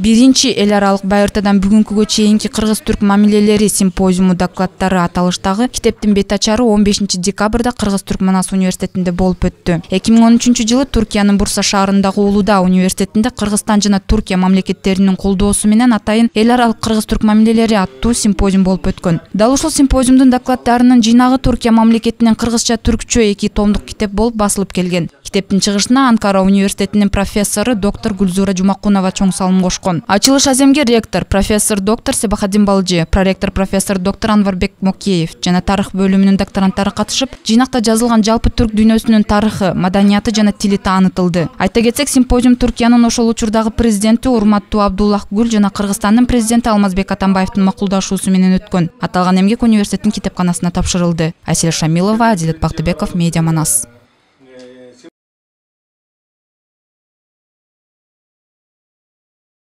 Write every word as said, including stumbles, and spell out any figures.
биринчи эл аралык байыртадан бүгүнкүгө чейинки кыргыз-түрк мамилелери симпозиуму докладдары аталыштагы китептин бет ачары он бешинчи декабрда Кыргыз-Түрк Манас университетинде болуп өттү. эки миң он үчүнчү жылы Туркиянын Бурса шаарындагы Улуудаа университетинде Кыргызстан жана Туркия мамлекеттеринин колдоосу менен атайын эл аралык кыргыз-түрк мамилелери аттуу симпозиум болуп өткөн. Дал ушул симпозиумдун докладдарынын жыйнагы Туркия мамлекетинен кыргызча-түркчө эки томдук китеп болуп басылып келген. Китептин чыгышына Анкара университетинин профессору доктор Гүлзура Жумакунова чоң салым кошкон. Ачылыш аземге ректор профессор доктор Себахаддин Балжы, проректор профессор доктор Анварбек Мокеев жана тарых бөлүмүнүн докторанттары катышып, жыйнакта жазылган жалпы түрк дүйнөсүнүн тарыхы, маданияты жана тили таанытылды. Айта кетсек, симпозиум Туркиянын ошол учурдагы президенти Урматтуу Абдуллах Гүл жана Кыргызстандын президенти Алмазбек Атамбаевдин макулдашуусу менен өткөн. Аталган эмгек университеттин китепканасына тапшырылды. Айсель Шамилова, Адилет Бактыбеков, Медиа Манас.